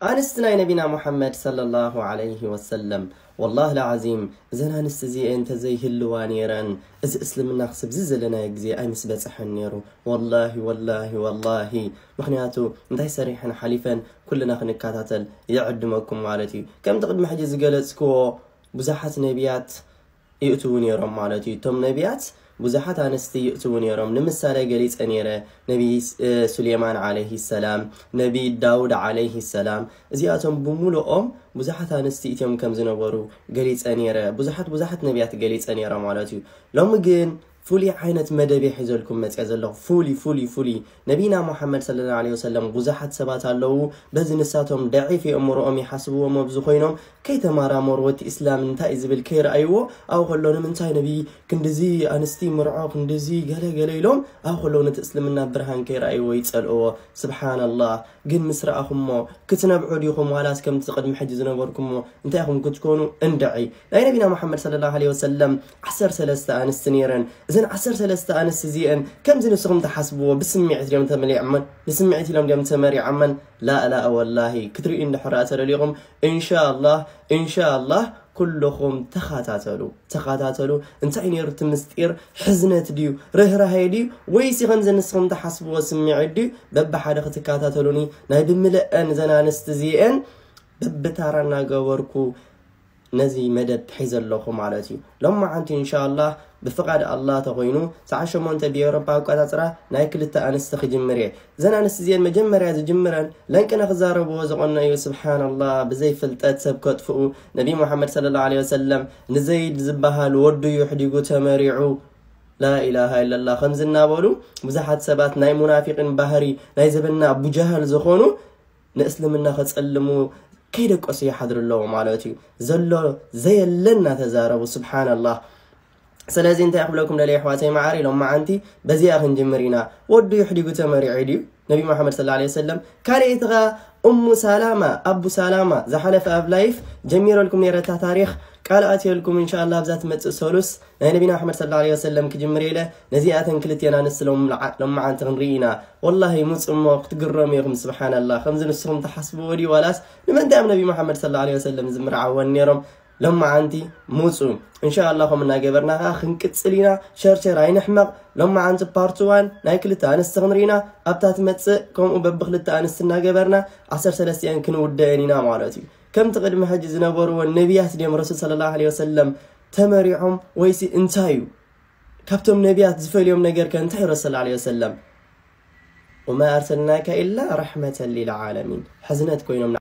ኣንስቲ ናይ ነቢና ሙሓመድ ሰለላሁ ዐለይሂ ወሰለም፣ ወላሂ ለዓዚም፣ እዘን ኣንስቲ እዚኤን እንተዘይህልዋ ነይረን፣ እዚ እስልምና ክስብ እዚ ዘለናዮ ግዜ ኣይምስ በጽሐን ነይሩ። ወላሂ፣ ወላሂ፣ ወላሂ። ምኽንያቱ እንታይ ሰሪሐን ሓሊፈን ኩልና ክንከታተል ይዕድመኩም ማለት እዩ። ከምቲ ቅድሚ ሕጂ ዝገለጽክዎ፣ ብዙሓት ነቢያት ይእትዉ ነይሮም ማለት እዩ። እቶም ነቢያት ብዙሓት ኣንስቲ ይእትዉ ነይሮም። ንምሳሌ ገሊጸ ነይረ፣ ነቢ እ፣ ሱሌማን ዓለይሂ ሰላም፣ ነቢ ዳውድ ዓለይሂ ሰላም፣ እዚኣቶም ብምሉኦም ብዙሓት ኣንስቲ እትዮም ከም ዝነበሩ ገሊጸ ነይረ። ብዙሓት ብዙሓት ነቢያት ገሊጸ ነይረ ማለት እዩ። ሎሚ ግን ፍሉይ ዓይነት መደብ እየ ሒዘልኩም መጽአ ዘለኹ። ፍሉይ፣ ፍሉይ፣ ፍሉይ። ነቢና ሙሓመድ ሰለላሁ ዐለይሂ ወሰለም ብዙሓት ሰባት ኣለዉ፣ በዚ ንሳቶም ደዒፍ የእምሮኦም ይሓስብዎም ኣብዚ ኮይኖም ከይተማራመሩ፣ እቲ እስላም እንታይ እዩ ዝብል ከይረኣይዎ፣ ኣብ ከሎ ንምንታይ ነቢ ክንድዚ ኣንስቲ ምርዖ፣ ክንድዚ ገለ ገለ ኢሎም ኣብ ከሎ ነቲ እስልምና ብርሃን ከይረኣይዎ ይጸልእዎ። ስብሓንላህ። ግን ምስ ረኣኹሞ ክትነብዑ ዲኹም ዋላስ ከምቲ ቅድሚ ሕጂ ዝነበርኩሞ እንታይ ኢኹም ክትኮኑ? እንድዒ። ናይ ነቢና ሙሓመድ ሰለላሁ ዐለይሂ ወሰለም ዓሰርተ ሰለስተ ኣንስቲ ነይረን። እዘን ዓሰርተ ሰለስተ ኣንስቲ እዚአን ከምዚ ንስኹም ትሓስብዎ ብስምዒት ድዮም ተመሊዖመን? ብስምዒት ኢሎም ድዮም ተመሪዖመን? ላእላእ ወላሂ። ክትርእዩ እንድሕር ተደሊኹም፣ ኢንሻኣላህ፣ ኢንሻኣላህ ኩልኹም ተኸታተሉ፣ ተኸታተሉ። እንታይ ነይሩ እቲ ምስጢር? ሕዝነት ድዩ? ርህራሄ ድዩ? ወይሲ ከምዚ ንስኹም ትሓስብዎ ስምዒት ድዩ? በብሓደ ክትከታተሉኒ ናይ ብምልአን እዘን ኣንስቲ እዚአን በብታራ እናገበርኩ ነዚ መደብ ሒዘ ኣለኹ ማለት እዩ። ሎማዓንቲ ኢንሻኣላህ ብፍቓድ ኣላህ ተኾይኑ ሰዓት ሸሞንተ ብኤውሮፓ ኣቆጻጽራ ናይ ክልተ ኣንስቲ ክጅምር እየ። እዘን ኣንስቲ እዚአን መጀመርያ ዝጅምረን ለንቅነ ክዛረብዎ ዝቐነዩ፣ ስብሓንላህ፣ ብዘይ ፍልጠት ሰብ ከጥፍኡ፣ ነቢ ሙሓመድ ሰለላሁ ዐለይሂ ወሰለም ንዘይድ ዝበሃል ወዱ ይሕዲጉ ተመሪዑ፣ ላኢላሃ ኢለላህ፣ ከምዚ እናበሉ ብዙሓት ሰባት ናይ ሙናፊቅን ባህሪ ናይ ዘበና ኣቡጃህል ዝኾኑ ንእስልምና ከጸልሙ ከይደቀሱ ይሓድሩ ኣለዉ ማለት እዩ። ዘሎ ዘየለ እናተዛረቡ፣ ስብሓንላህ። ስለዚ እንታይ ክብለኩም ደልየ ኣሕዋተይ መዓሪ፣ ሎማዓንቲ በዚኣ ክንጅምር ኢና። ወዱ ይሕዲጉ ተመሪዑ ድዩ ነቢ መሓመድ ሰለላሁ ዐለይሂ ወሰለም? ካልኣይቲ ኸኣ እሙ ሳላማ፣ ኣቡ ሳላማ፣ ዝሓለፈ ኣብ ላይፍ ጀሚረልኩም ነይረ እታ ታሪኽ፣ ቃል ኣትየልኩም፣ ኢንሻኣላህ ኣብዛ ትመጽእ ሰሉስ ናይ ነቢና መሓመድ ሰለላሁ ዐለይሂ ወሰለም ክጅምር ኢለ ነዚኣተን ክልቴና ንስሎም ሎማዓንቲ ክንርኢ ኢና። ወላሂ ሙጹ እሞ ክትግረሙ ኢኹም። ስብሓንላህ፣ ከምዚ ንስኹም ትሓስብዎ ድዩ ዋላስ ንምንታይ እዮም ነቢ መሓመድ ሰለላሁ ዐለይሂ ወሰለም ዝምርዓወን ነይሮም? ሎማዓንቲ ሙጹ። ኢንሻኣላህ ከምኡ እናገበርና ከኣ ክንቅጽል ኢና። ሸርሸር ኣይንሕመቕ። ሎማዓንቲ ፓርት ዋን ናይ ክልተ ኣንስቲ ክንርኢ ኢና። ኣብታ ትመጽእ ከምኡ በብክልተ ኣንስቲ እናገበርና ዓሰርተ ሰለስቲአን ክንውደአን ኢና ማለት እዩ። ከምቲ ቅድሚ ሕጂ ዝነበርዎ ነቢያት ድዮም ረሱል ሰለላሁ ዐለይሂ ወሰለም ተመሪዖም ወይሲ እንታይ እዩ? ካብቶም ነቢያት ዝፈልዮም ነገር ከ እንታይ እዩ? ረሱል ሰለላሁ ዐለይሂ ወሰለም ወማ ኣርሰልናካ ኢላ ረሕመተን ሊልዓለሚን፣ ሕዝነት ኮይኖም